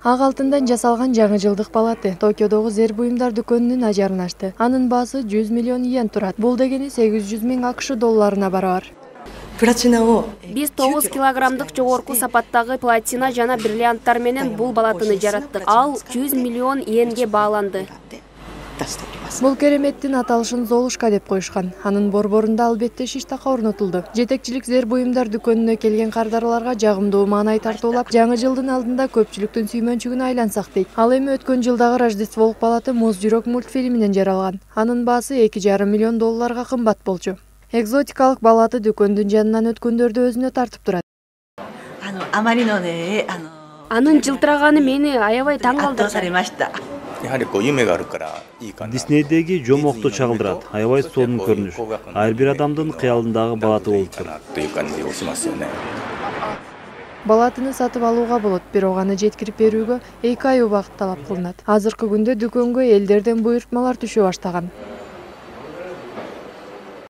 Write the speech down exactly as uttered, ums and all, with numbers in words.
Ак алтындан жасалган жаңы жылдык балаты Токиодогу зер буюмдар дүкөнүнүн ажарын ачты. Анын баасы жүз миллион йен турат. Бул дегени сегиз жүз миң акш долларына барабар. Биз тогуз килограммдык жогорку сапаттагы платина жана бриллианттар менен бул балатыны жараттык. Ал жүз миллион йенге бааланды. Бул кереметтин аталышын Золушка деп коюшкан. Анын борборунда албетте шиштака орнотулду. Жетекчилик зер буюмдар дүкөнүнө келген кардарларга жагымдуу маанай тартуулап, жаңы жылдын алдында көпчүлүктүн сүймөнчүгүнө айлансак дейт. Ал эми өткөн жылдагы Рождестволук балаты Муз жүрөк мультфильминен жаралган. Анын баасы эки жарым миллион долларга кымбат болчу. Экзотикалык балаты дүкөндүн жанынан өткөндөрдү өзүнө тартып турат. Анын жылтыраганы мени аябай таң калтырды. Диснейдеги жомокто чагылдырат. Аябай сонун көрүнүш. Ар бир адамдын кыялындагы балаты болуптур. Балатыны сатып алууга болот, бирок аны жеткирип берүүгө эки ай убакыт талап кылынат. Азыркы күндө дүкөнгө элдерден буйрутмалар түшө баштаган.